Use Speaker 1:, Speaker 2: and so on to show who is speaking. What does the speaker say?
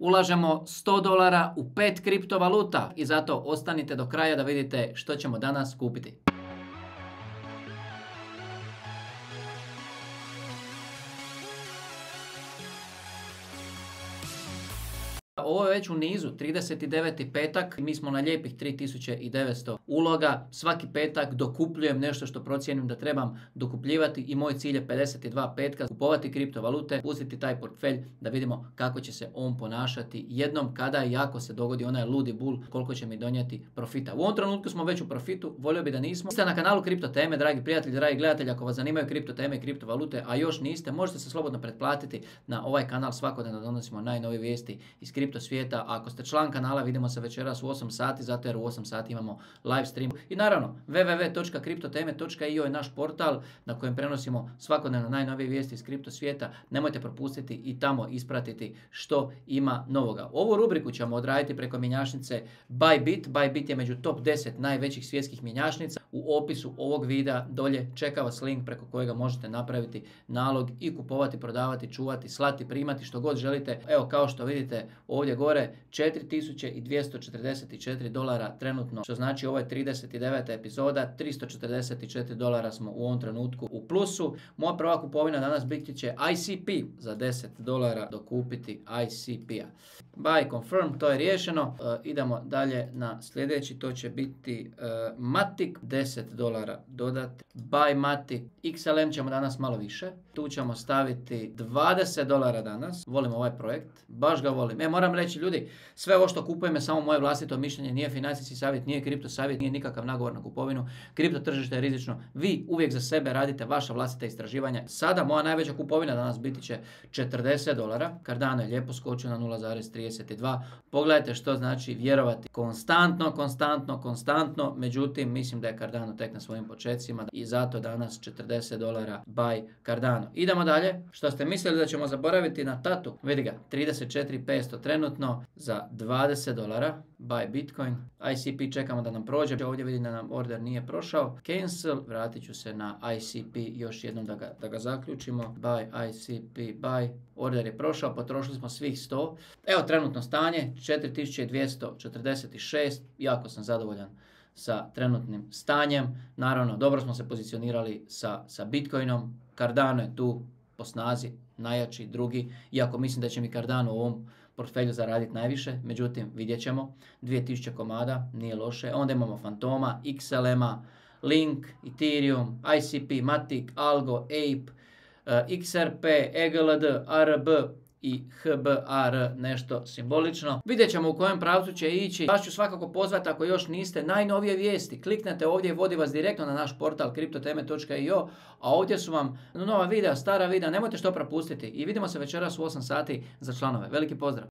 Speaker 1: ulažemo $100 u 5 kriptovaluta i zato ostanite do kraja da vidite što ćemo danas kupiti. Ovo je već u nizu, 39. petak, mi smo na lijepih 3900 uloga. Svaki petak dokupljujem nešto što procijenim da trebam dokupljivati i moj cilj je 52 petka kupovati kriptovalute, pustiti taj portfelj da vidimo kako će se on ponašati jednom kada i ako se dogodi onaj ludi bul, koliko će mi donijeti profita. U ovom trenutku smo već u profitu, volio bi da nismo. Ste na kanalu Kripto teme, dragi prijatelji, dragi gledatelji, ako vas zanimaju kripto teme i kriptovalute, a još niste, možete se slobodno pretplatiti na ovaj kanal, svakodnevno donosimo najnovije vijesti iz kripto svijeta. Ako ste član kanala, vidimo se večeras u 8 sati, zato jer u 8 sati imamo live stream. I naravno, www.kriptoteme.io je naš portal na kojem prenosimo svakodnevno najnovije vijesti iz kripto svijeta. Nemojte propustiti i tamo ispratiti što ima novoga. Ovu rubriku ćemo odraditi preko mjenjačnice Bybit. Bybit je među top 10 najvećih svjetskih mjenjačnica. U opisu ovog videa dolje čeka vas link preko kojega možete napraviti nalog i kupovati, prodavati, čuvati, slati, primati što god želite. Evo, kao što vidite ovdje gore, $4244 trenutno, što znači ovo je 39. epizoda, $344 smo u ovom trenutku u plusu. Moja prva kupovina danas biti će ICP, za $10 dokupiti ICP-a. Buy, confirm, to je riješeno. Idemo dalje na sljedeći, to će biti Matic, $10 dodati. Buy Matic, XLM ćemo danas malo više. Tu ćemo staviti $20 danas. Volim ovaj projekt, baš ga volim. Moram reći ljudi, sve ovo što kupujem je samo moje vlastito mišljenje, nije financijski savjet, nije kripto savjet, nije nikakav nagovor na kupovinu. Kripto tržište je rizično. Vi uvijek za sebe radite vaša vlastita istraživanja. Sada moja najveća kupovina danas biti će $40. Cardano je lijepo skočio na 0,32. Pogledajte što znači vjerovati konstantno. Međutim, mislim da je Cardano tek na svojim počecima i zato danas $40 buy Cardano. Idemo dalje. Što ste mislili da ćemo zaboraviti na Tatu? Vidi ga, 34.500 trenutno za $20 buy Bitcoin. ICP čekamo da nam prođe. Ovdje vidim da nam order nije prošao. Cancel. Vratit ću se na ICP još jednom da ga zaključimo. Buy ICP buy. Order je prošao. Potrošili smo svih 100. Evo trenutno stanje 4246. Jako sam zadovoljan sa trenutnim stanjem. Naravno, dobro smo se pozicionirali sa Bitcoinom. Cardano je tu po snazi najjači, drugi. Iako mislim da će mi Cardano u ovom portfelju zaraditi najviše, međutim vidjet ćemo. 2000 komada, nije loše. Onda imamo Fantoma, XLM-a, Link, Ethereum, ICP, Matic, Algo, Ape, XRP, EGLD, ARB i HBAR, nešto simbolično. Vidjet ćemo u kojem pravcu će ići. Vas ću svakako pozvati, ako još niste, najnovije vijesti. Kliknete ovdje i vodi vas direktno na naš portal kriptoteme.io, a ovdje su vam nova videa, stara videa, nemojte što propustiti. I vidimo se večeras u 8 sati za članove. Veliki pozdrav!